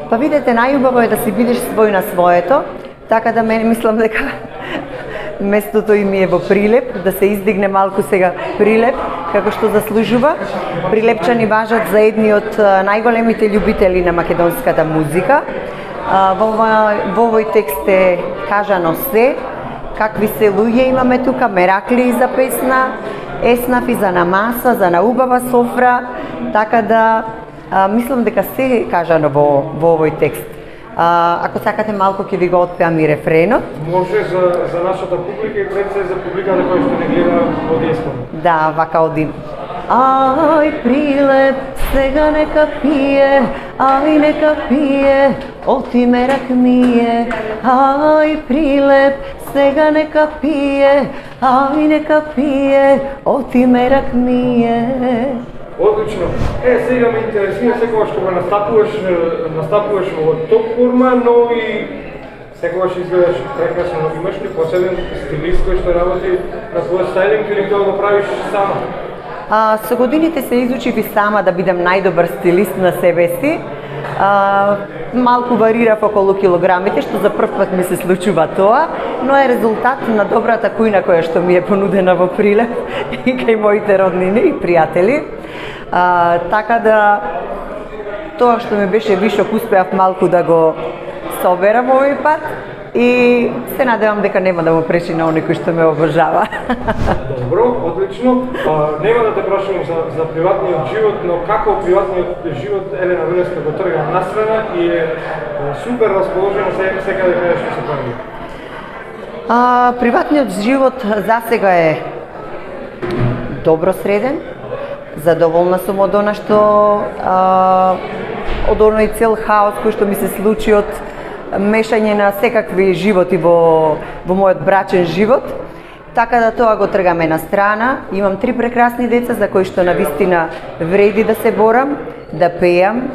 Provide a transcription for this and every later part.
Па видете, најубаво е да си бидеш свој на своето, така да мене мислам дека местото им е во Прилеп, да се издигне малку сега Прилеп, како што заслужува. Прилепчани важат за едни од најголемите љубители на македонската музика. Во овој текст е кажано се, какви се луѓе имаме тука, меракли за песна, еснафи за намаса, за наубава софра, така да мислам дека се кажано во овој текст. Ако сакате малку ќе ви го отпеам и рефренот. Може за нашата публика и пред се за публиката која што не гледа во диаспора. Да, вака одим. Ај Прилеп, сега нека пие, ај нека пие, оти мерак мие. Ај Прилеп, сега нека пие, ај нека пие, оти мерак мие. Одлично. Сега ме интересира секогаш кога настапуваш во топ форма, но и секогаш изгледаш прекрасно, но имаш ли посебен стилист кој што работи на твојот стајлинг или тоа го правиш сама? Со годините се изучив и сама да бидам најдобар стилист на себе си. Малку варирав околу килограмите, што за прв пат ми се случува тоа, но е резултат на добрата кујна која што ми е понудена во Прилеп и кај моите роднини и пријатели. Така да тоа што ми беше вишок успеав малку да го соберам овој пат и се надевам дека нема да му пречи на оној кој што ме обожава. Добро, одлично. Нема да те прашувам за приватниот живот, но како приватниот живот Елена Велеска го трга настрана и е супер расположена секаде каде што се прави? Приватниот живот засега е добро среден. Задоволна сум од она што од оној цел хаос кој што ми се случи од мешање на секакви животи во мојот брачен живот. Така да тоа го тргаме на страна. Имам 3 прекрасни деца за кои што навистина вреди да се борам, да пеам,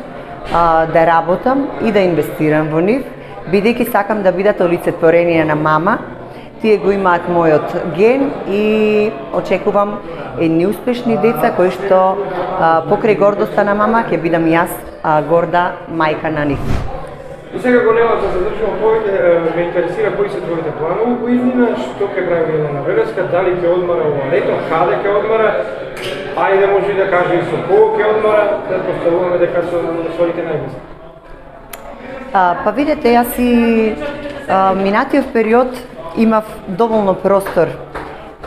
да работам и да инвестирам во нив, бидејќи сакам да бидат олицетворение на мама. Тие го имаат мојот ген и очекувам едни успешни деца кои што покрај гордоста на мама ќе бидам јас горда мајка на нив. И сега го нема да задржувам повеќе, ме интересира кои се твоите планови во иднина, што ќе прави Елена Велеска, дали ќе одмара ова лето, каде ќе одмара, ајде може да каже и со кого ќе одмара, да поставуваме дека со своите најблиски. Па видете, јас и минатиот период имав доволно простор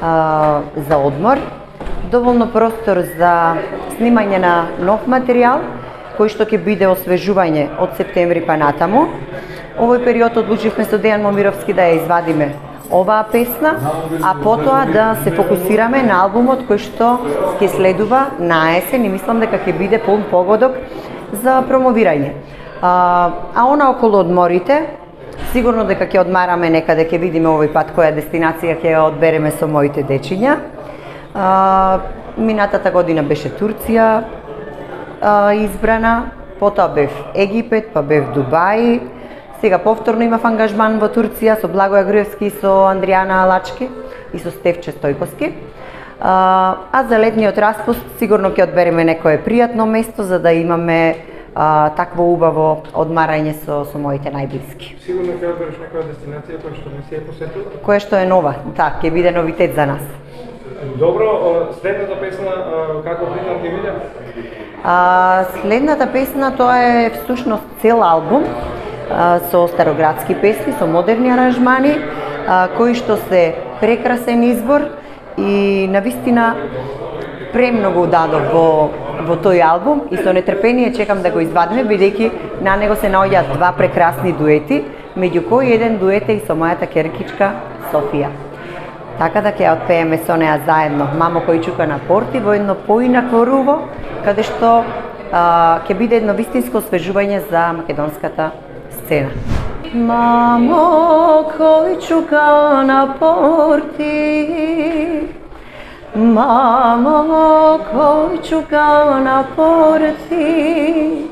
за одмор, доволно простор за снимање на нов материјал, кој што ќе биде освежување од септември па натаму. Овој период одлучивме со Дејан Момировски да ја извадиме оваа песна, а потоа да се фокусираме на албумот кој што ќе следува на есен и мислам дека ќе биде полн погодок за промовирање. А она околу одморите, сигурно дека ќе одмараме некаде, ќе видиме овој пат која дестинација ќе ја одбереме со моите дечиња. Минатата година беше Турција избрана, потоа бев Египет, па бев Дубај. Сега повторно имав ангажман во Турција со Благоја Груевски, со Андријана Алачки и со Стефче Стојковски. А за летниот распуст сигурно ќе одбереме некое пријатно место за да имаме такво убаво одмарање со моите најблиски. Сигурно ќе одбереш некоја дестинација која што не си ја посетила? Која што е нова, да, ќе биде новитет за нас. Добро, следната песна како притам ќе биде? Следната песна тоа е всушност цел албум со староградски песни, со модерни аранжмани, кои што се прекрасен избор и навистина премногу дадов во тој албум и со нетрпение чекам да го извадиме, бидејќи на него се наоѓаат 2 прекрасни дуети, меѓу кои еден дует е и со мојата керкичка Софија. Така да ќе отпееме со неа заедно Мамо кој чука на порти во едно поинакво руво, каде што ќе биде едно вистинско освежување за македонската сцена. Мамо кој чука на порти, мамо кој чука на порти,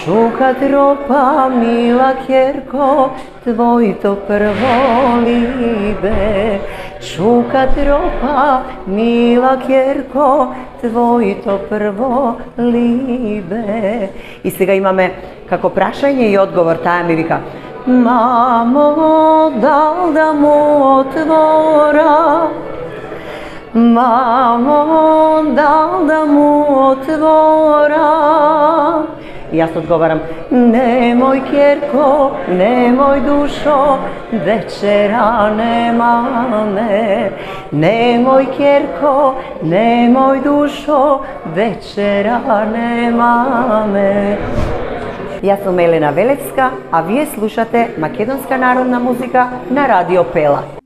чука тропа мила керко, твоето прво либе, Šuka tropa, mila kjerko, tvojito prvo libe. И сега имаме како прашање и одговор, таа ми вика: Мамо, дал да му отвора? Мамо, дал да му отвора? И јас одговарам: немој кјерко, немој душо, вечера немаме. Немој кјерко, немој душо, вечера немаме. Јас сум Елена Велевска, а вие слушате македонска народна музика на Радио Пела.